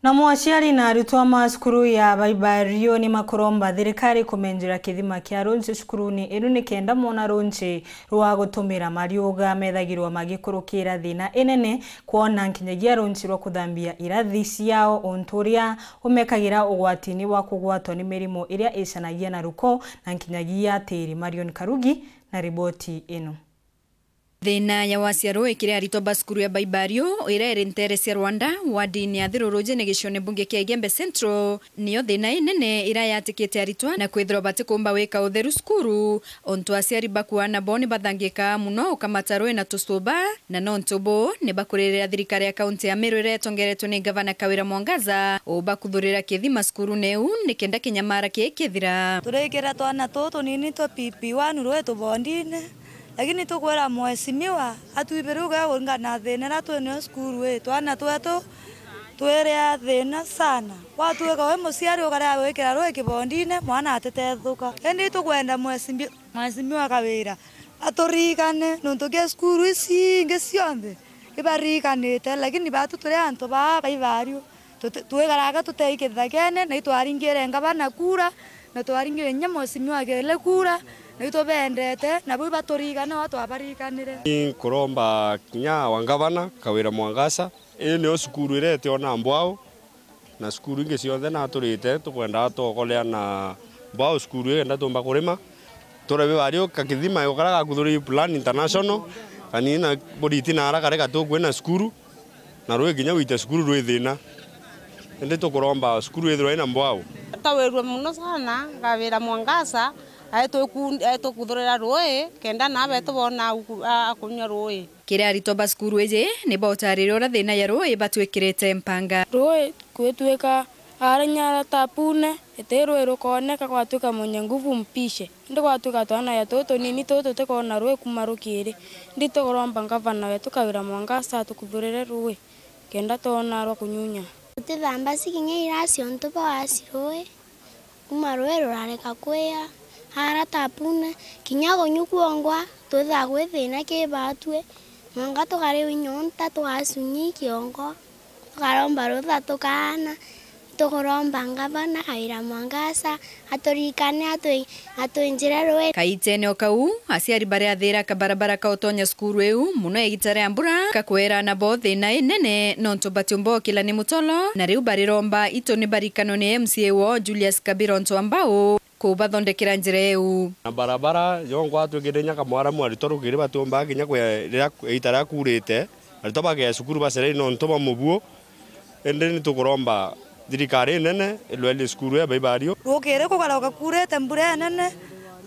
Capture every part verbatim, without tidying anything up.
Namo aciari na arutwa ma cukuru ya Baibario ni makuromba thirikari kumenjera kithima kia runchi cukuruni inu nikenda mona runchi rwa gutumira mariuga methagirwa magikurukira thina inene kwona nkinyagia runchi rwa kuthambia irathi ciao, untu uria umekagira ugwatini bwa kugwatwa ni mirimu iria icanagia na ruko na nkinyagia tiri. Marion Karugi na riboti ino. Thina ya wacia ruui kiri aritwa ba cukuru ya Baibario iria iri nteere cia Rwanda, wardini ya Thirurujene gicione mbunge kia Igembe Central, niyo thina inene iria yatikite aritwa na kwithirwa batikumba wika utheru cukuru, untu aciari bakuana bo ni bathangika muno ukamata ruui na tucuba, na nontu buu ni bakuririra thirikari ya kaunti ya Meru iria itongeretwe ni Gavana Kawira Mwangaza ubakuthurira kithima cukurune iu nikenda kinyamara kii kithira. Turikira twana tutu tunini twa P P one ruui tubondine. Lakini tukwira mheshimiwa atwibire uga kuringana na thina iria twi nayo cukuru ii, twana twetu twiria thina sana. Gwatuika wi muciari ukarega gwikira ruui kibondine, mwana atitethuka. Indi tukwenda mheshimi-, mheshimiwa Kawira aturirikane, nontu kia cukuru ici ingi cionthe ibaririkanite, lakini batu turi antu baa Baibario. Tuti-, twikaraga tutei kithakene, na itwaringire ngavana kura, na twaringire kinya mheshimiwa Kele kura, na itubendete, na bau ibaturigane, o twabaririkanire. Ni nkuromba kinya wa ngavana, Kawira Mwangaza, ii niyo cukuru iria itiona mbwau, na cukuru ingi cionthe naturite, tukwenda atokolea na mbwau cukuru ii kenda tumba kurima. Turabe bario kakithima gukara gakuthuri Plan International, kanini na buriti na ara kare gatukwina cukuru. Na ruui kinya gwita cukuru rwi thina. Indi tukuromba cukuru ithirwe ina mbwau. Tawirwe muno sana, Kawira Mwangaza, aetukuthurira ruui, kenda na betu bona aku-, a-, akunywa ruui. Kiri aritwa ba cukuru iji, ni bautariria uria thina ya ruui ibatwikirite mpanga. Ruui gwitwika ara nyara tapune, iti ruui rukooneka, gwatwika mwenye nguvu mpishe. Indi gwatwika twana ya tutu tunini tutu tutikoona ruui kuuma rukiri. Indi tukuromba ngavana wetu Kawira Mwangaza atukuthurire ruui, kenda twona rwa kunyunya. Tutithamba ci kinya irasi untu bwa waci ruui, kuuma ruui rurareka kwia, ara tapune, kinya kunywa kwongwa, twithaa kwi thina ki batwi, mwanka tukariwa inyonta, tugacunyia i kiongo. Tukaromba rutha tukaana, tukuromba ngavana Kawira Mwangaza, aturikane, atwi-, atwinjire ruui. Kaitene o kau, aciari bariathira kabarabara ka utonya cukuru iu, muno igita ria mbura, kakwera nabo thina inene, nontu batiumba ukila ni mutolo, na riu bariromba itu ni barikanwe ni M C A woo Julius Kabira untu wa mbau. Kubathondekera njira iu. Na barabara yongwa twikite inya kamwaramu, aritwa rukiri batiumbaga kinya kwia riria ita riria kuurite, aritwa bagea cukuru bacereire nontu bwa mubuo. Indi ni tukuromba thirikari inene irwerie cukuru ya Baibario. Rukiri kugaroka kuurite mbura inene,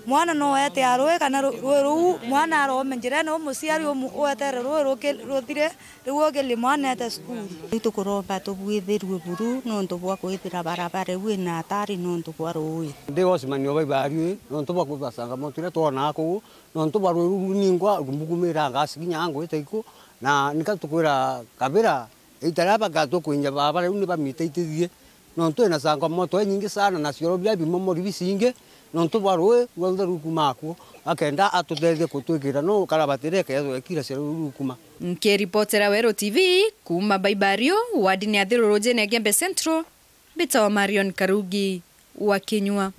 mwana no etea ruui kana ru-, ruui ruu mwana arome njirene, u muciari umu-, uetere ruui ruki-, ruthire. Riu ugilie mwana eete cukuru. Riu tukuromba tubwithirue buru nontu bwa kwithira barabara iu ina hatari nontu bwa ruui. Ndi Osman o Baibario ii, nontu bwa kwithira changamoto iria twonaa kuu, nontu bwa ruui ruu ningwa rumbukumira ngasi kinya ngwite iku, na nika tukwira Kabira, ita riria bagatua kwinja barabara iu ni bamite itithie. Nontu ina changamoto inyingi sana na cioro biria bimomori bicingi, nontu bwa ruui rwonthe rukuma akuo, akenda atutethie kutwikira no karabati iria ikethirwa ikira cioro rukuma. Nkiripotera Weru T V kuuma Baibario, wardini ya Thirurujene ya Gembe Central, mbitawa Marion Karugi wa Kinyua.